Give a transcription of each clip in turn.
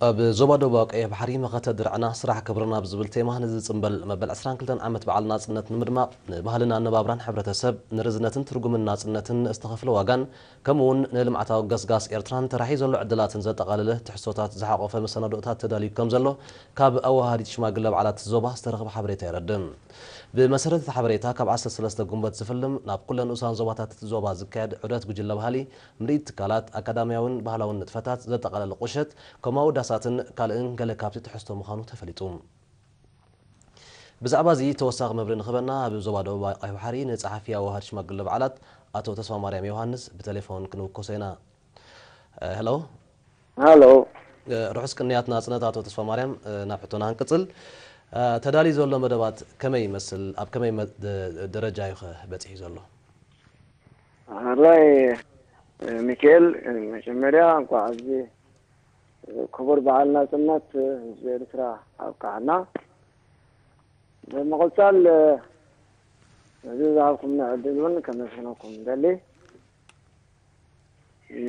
ኣብ ዞባ ደቡባዊ ቀይሕ ባሕሪ መኸተ ድርዕና ስራሕ ክብርና ብዝብል ቴማ ንዝጽንበል መበል ዕስራን ክልተን ዓመት በዓል ናጽነት ንምድማቕ ንባህልን ኣነባብራን ሕብረተሰብ ንርዝነትን ትርጉምን ናጽነትን ዝተኸፍለ ዋጋን ከምኡ እውን ንልምዓታዊ ገስጋስ ኤርትራን ተራሒ ዘሎ ዕድላትን ዘጠቓለለ ትሕዝቶታት ዝሓቖፈ መሰናዶታት ተዳልዩ ከም ዘሎ ካብ ኣወሃሃዲት ሽማግለ በዓላት ዞባ ዝተረኽበ ሓበሬታ የረድእ። ብመሰረት እቲ ሓበሬታ ካብ ዓሰርተ ሰለስተ ጉንበት ዝፍልም ናብ ኩለን ንኡሳን ዞባታት እቲ ዞባ ዝካየድ ዑደት ጉጅለ ባህሊ ምርኢት ትካላት፣ ኣካዳምያውን ባህላውን ንጥፈታት ዘጠቓለለ ቁሸት፣ ከምኡ ዳሳትን ካልእን ገለ ካብቲ ትሕዝቶ ምዃኑ ተፈሊጡ። ብዛዕባ እዚ ተወሳኺ መብርሂ ንኽበና ኣብ ዞባ ደቡብ ቀይሕ ባሕሪ ንጸሓፊ ኣዋሃድ ሽማግለ በዓላት ኣቶ ተስፋ ማርያም ዮሃንስ ብቴሌፎን ክንውከሶ ኢና። ሄሎ። ሃሎ። ርሑስ ቅንያት ናጽነት ኣቶ ተስፋ ማርያም። ናብ ሕቶና ክንቅጽል። ተዳልዩ ዘሎ መደባት ከመይ ይመስል? ኣብ ከመይ መ- ደ- ደረጃ እዩ ኸ በጺሑ ዘሎ? ሓራይ ሚካኤል፣ መጀመርያ እንኳዕ ኣብዚ ክቡር በዓል ናጽነት ህዝቢ ኤርትራ ኣብቃዓና። ብምቕጻል ነዚ ዝሃብኩምና ዕድል እውን ከመስግነኩም ደሊ።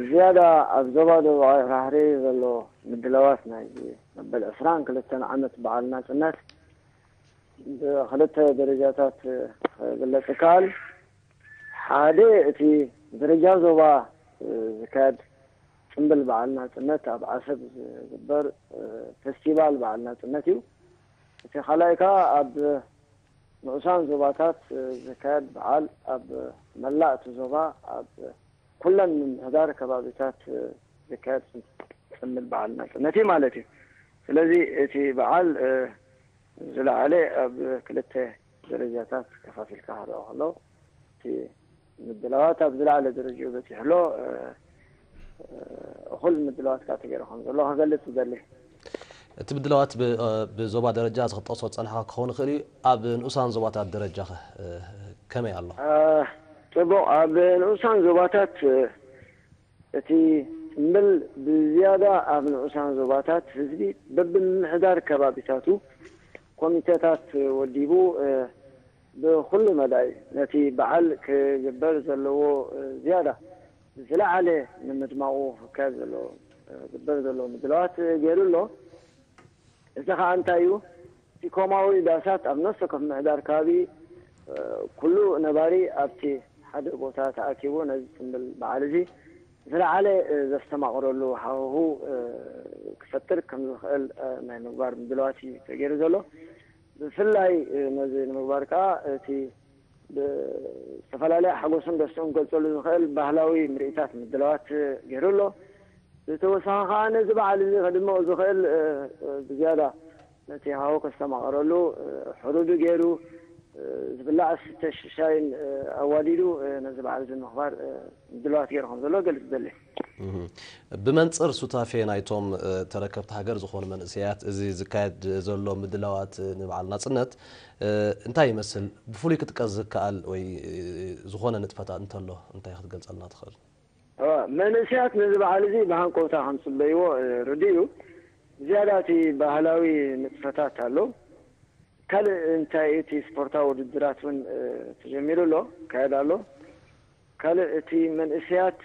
ዝያዳ ኣብ ዞባ ደቡብ ባሕሪ ዘሎ ምድላዋት ናይ መበል ዕስራን ክልተን ዓመት በዓል ናጽነት ብክልተ ደረጃታት ክግለጽ ይከኣል። ሓደ እቲ ደረጃ ዞባ ዝካየድ ጽምብል በዓል ናጽነት ኣብ ዓሰብ ዝግበር ፈስቲቫል በዓል ናጽነት እዩ። እቲ ካልኣይ ከኣ ኣብ ንኡሳን ዞባታት ዝካየድ በዓል ኣብ መላእ እቲ ዞባ ኣብ ኩለን ምምሕዳር ከባቢታት ዝካየድ ጽምብል በዓል ናጽነት እዩ ማለት እዩ። ስለዚ እቲ በዓል ዝለዓለ ኣብ ክልተ ደረጃታት ከፋፊልካ ክረኦ ከሎ እቲ ምድላዋት ኣብ ዝለዓለ ደረጃኡ በጺሑ ኣሎ። እኹል ምድላዋት ከዓ ተገይሩ ከም ዘሎ ክገልጽ እደሊ። እቲ ምድላዋት ብዞባ ደረጃ እዚ ክጠቕሶ ዝጸናሕካ ክኸውን ይኽእል እዩ። ኣብ ንኡሳን ዞባታት ደረጃ ከ ከመይ ኣሎ? ጽቡቕ። ኣብ ንኡሳን ዞባታት እቲ ጽምብል ብዝያዳ ኣብ ንኡሳን ዞባታት ህዝቢ በብምምሕዳር ከባቢታቱ ኮሚተታት ወዲቡ ብኹሉ መዳይ ነቲ በዓል ክግበር ዘለዎ ዝያዳ ብዝለዓለ ንምድማቑ ክካየድ ዘሎ ዝግበር ዘሎ ምድላዋት ገይሩ ኣሎ። እዚ ከዓ እንታይ እዩ? እቲ ኮማዊ ዳሳት ኣብ ነፍሲ ወከፍ ምምሕዳር ከባቢ ኩሉ ነባሪ ኣብቲ ሓደ ቦታ ተኣኪቡ ነዚ ጽምብል በዓል እዚ ዝለዓለ ዘስተማቕረሉ ሃዋሁ ክፈጥር ከም ዝኽእል ናይ ምግባር ምድላዋት እዩ ተገይሩ ዘሎ። ብፍላይ ነዚ ንምግባር ከዓ እቲ ብዝተፈላለየ ሓጎስን ደስትኡን ክገልጸሉ ዝኽእል ባህላዊ ምርኢታት ምድላዋት ገይሩ ኣሎ። ብተወሳኺ ከዓ ነዚ በዓል እዚ ከድምቕ ዝኽእል ብዝያዳ ነቲ ሃዋሁ ከስተማቕረሉ ሕሩዱ ገይሩ ዝብላዕ ዝስተ ሻሂን ኣዋዲዱ ነዚ በዓል እዚ ንምኽባር ምድላዋት ገይሩ ከም ዘሎ ገልጽ ደሊ። ብመንጽር ሱታፌ ናይቶም ተረከብቲ ሃገር ዝኾኑ መንእሰያት እዚ ዝካየድ ዘሎ ምድላዋት ንበዓል ናጽነት እንታይ ይመስል? ብፍሉይ ክጥቀስ ዝከኣል ወይ ዝኾነ ንጥፈታት እንተሎ እንታይ ክትገልጸልና ትኽእል? መንእሰያት ነዚ በዓል እዚ ብሃንቀውታ ከም ዝጽበይዎ ርዱእ እዩ። ዝያዳ እቲ ባህላዊ ንጥፈታት ኣሎ። ካልእ እንታይ እቲ ስፖርታዊ ውድድራት እውን ተጀሚሩ ኣሎ፣ ይካየድ ኣሎ። ካልእ እቲ መንእሰያት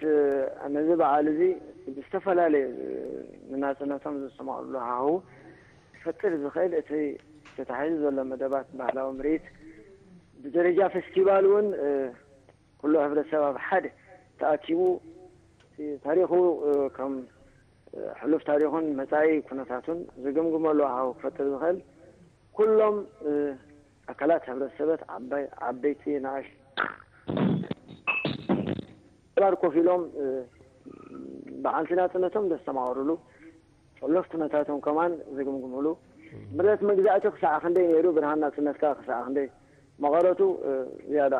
ነዚ በዓል እዚ ብዝተፈላለየ ንናጽነቶም ዘስተማቕርሉ ሃሁ ክፈጥር ዝኽእል እቲ ተታሒዙ ዘሎ መደባት ባህላዊ ምርኢት ብደረጃ ፌስቲቫል እውን ኩሉ ሕብረተሰብ ኣብ ሓደ ተኣኪቡ ታሪኹ ከም ሕሉፍ ታሪኹን መጻኢ ኩነታቱን ዝግምግመሉ ሃሁ ክፈጥር ዝኽእል ኩሎም ኣካላት ሕብረተሰበት ዓባይ ዓበይቲ ንኣሽ ባር ኮፍ ኢሎም በዓልቲ ናጽነቶም ዘስተማቕርሉ ጸሎፍ ኩነታቶም ከማን ዝግምግምሉ ምረት መግዛእቲ ክሳዕ ክንደይ ነይሩ ብርሃን ናጽነትካ ክሳዕ ክንደይ መቐረቱ ዝያዳ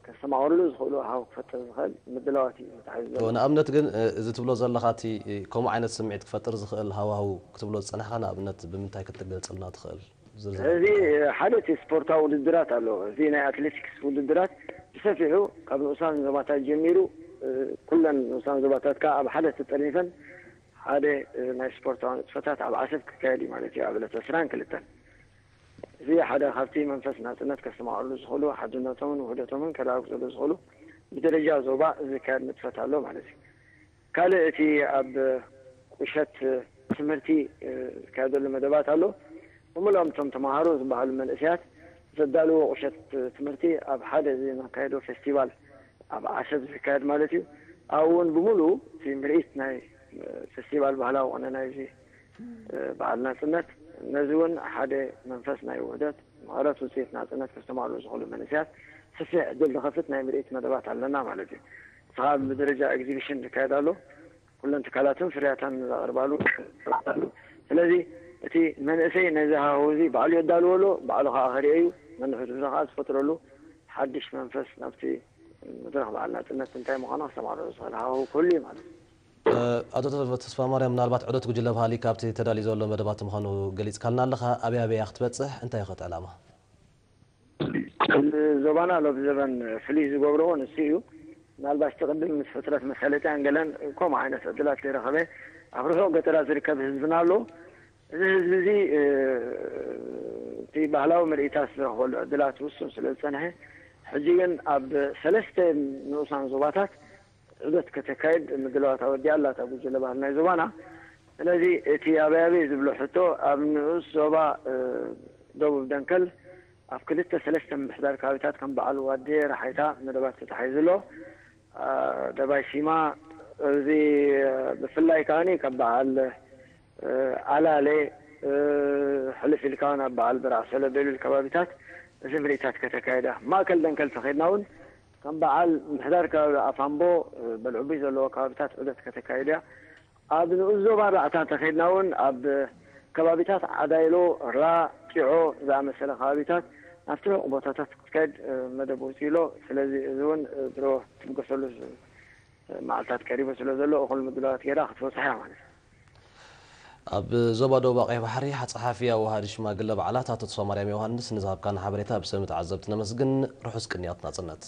ከስተማቕርሉ ዝኽእሉ ሃው ክፈጥር ዝኽእል ምድላዋት እዩ ተታሒዙ ዘሎ። ንኣብነት ግን እዚ ትብሎ ዘለኻ እቲ ከምኡ ዓይነት ስምዒት ክፈጥር ዝኽእል ሃዋህው ክትብሎ ዝጸናሕካ ንኣብነት ብምንታይ ክትገልጽልና ትኽእል? ዝርዝር እዚ ሓደ እቲ ስፖርታዊ ውድድራት ኣሎ። እዚ ናይ ኣትሌቲክስ ውድድራት ብሰፊሑ ካብ ንኡሳን ዞባታት ጀሚሩ ኩለን ንኡሳን ዞባታት ከዓ ኣብ ሓደ ተጠርኒፈን ሓደ ናይ ስፖርታዊ ንጥፈታት ኣብ ዓሰብ ክካየድ እዩ ማለት እዩ ኣብ ዕለት ዕስራን ክልተን። እዚ ሓደ ካብቲ መንፈስ ናጽነት ከስተማቕርሉ ዝኽእሉ ሓድነቶምን ውህደቶምን ከረጋግጽሉ ዝኽእሉ ብደረጃ ዞባ ዝካየድ ንጥፈት ኣሎ ማለት እዩ። ካልእ እቲ ኣብ ቁሸት ትምህርቲ ዝካየደሉ መደባት ኣሎ። ብምሎም እቶም ተምሃሮ ዝበሃሉ መንእሰያት ዘዳልዎ ቁሸት ትምህርቲ ኣብ ሓደ እዚ ነካየዶ ፌስቲቫል ኣብ ዓሰብ ዝካየድ ማለት እዩ። ኣብኡ እውን ብምሉ እቲ ምርኢት ናይ ፌስቲቫል ባህላዊ ቁነ ናይዚ በዓል ናፅነት፣ ነዚ እውን ሓደ መንፈስ ናይ ውህደት ምዕረት ውፅኢት ናፅነት ከስተማሉ ዝኽእሉ መንእሰያት ስፍሕ ዕድል ዝኸፍት ናይ ምርኢት መደባት ኣለና ማለት እዩ። ስኻ ብደረጃ ኤግዚቢሽን ዝካየድ ኣሎ። ኩለን ትካላትን ፍርያታን ዘቕርባሉ ኣሎ። ስለዚ እቲ መንእሰይ ነዚ ሃዋሁ እዚ ባዕሉ የዳልወሉ፣ ባዕሉ ከዓ ከርእዮ እዩ። ነንሕድሕዱ ከዓ ዝፈጥረሉ ሓድሽ መንፈስ ናብቲ መድረኽ በዓል ናፅነት እንታይ ምዃኑ ክሰማርዑ ዝኽእል ሃዋሁ ክህሉ እዩ ማለት እዩ። ኣቶ ተስፋ ማርያም፣ ምናልባት ዑደት ጉጅለ ባህሊ ካብቲ ተዳልዩ ዘሎ መደባት ምዃኑ ገሊፅካልና ኣለኻ። ኣበይ ኣበይ ክትበፅሕ፣ እንታይ ኸ ዕላማ? ዞባና ሎብ ዘበን ፍልይ ዝገብርዎ ንሱ እዩ። ምናልባት እቲ ቅድም ምስ ሕፅረት መሳለጥያን ገለን ከምኡ ዓይነት ዕድላት ዘይረኸበ ኣብ ርሑቕ ገጠራት ዝርከብ ህዝብና ኣሎ። እዚ ህዝቢ እዚ እቲ ባህላዊ ምርኢታት ዝረኽበሉ ዕድላት ውሱን ስለ ዝፀንሐ፣ ሕጂ ግን ኣብ ሰለስተ ንኡሳን ዞባታት ዑደት ከተካይድ ምድላዋት ኣወዲኣ ኣላ እታ ጉጅለ ባህል ናይ ዞባና። ስለዚ እቲ ኣበይ ኣበይ ዝብሎ ሕቶ ኣብ ንኡስ ዞባ ደቡብ ደንከል ኣብ ክልተ ሰለስተ ምምሕዳር ከባቢታት ከም በዓል ዋዴ፣ ራሓይታ መደባት ተታሒዙ ኣሎ። ደባይ ሲማ እዚ ብፍላይ ከዓኒ ካብ በዓል ኣላሌ ሕልፍ ኢልካ ናብ በዓል ብራዕ ሰለቤሉል ከባቢታት እዚ ምርኢታት ከተካይዳ። ማእከል ደንከል ተኸድና እውን ከም በዓል ምሕዳር ከባቢ ኣፋምቦ በልዕቡይ ዘለዎ ከባቢታት ዑደት ከተካይድ እያ። ኣብ ንኡስ ዞባ ራዕታ ተኸድና እውን ኣብ ከባቢታት ዓዳይሎ፣ ራ፣ ጢዖ ዝኣመሰለ ከባቢታት ናብቲ ርሑቕ ቦታታት ክትከድ መደብ ውፅኢሎ። ስለዚ እዚ እውን ድሮ ትብገሰሉ መዓልታት ቀሪቡ ስለ ዘሎ እኹል ምድላዋት ገይራ ክትበፅሕ እያ ማለት እዩ። ኣብ ዞባ ደቡብ ቀይሕ ባሕሪ ጸሓፊ ኣወሃዲ ሽማግለ በዓላት ኣቶ ተስፋማርያም ዮሃንስ ንዝሃብካና ሓበሬታ ብስም ተዓዘብቲ ነመስግን። ርሑስ ቅንያት ናጽነት።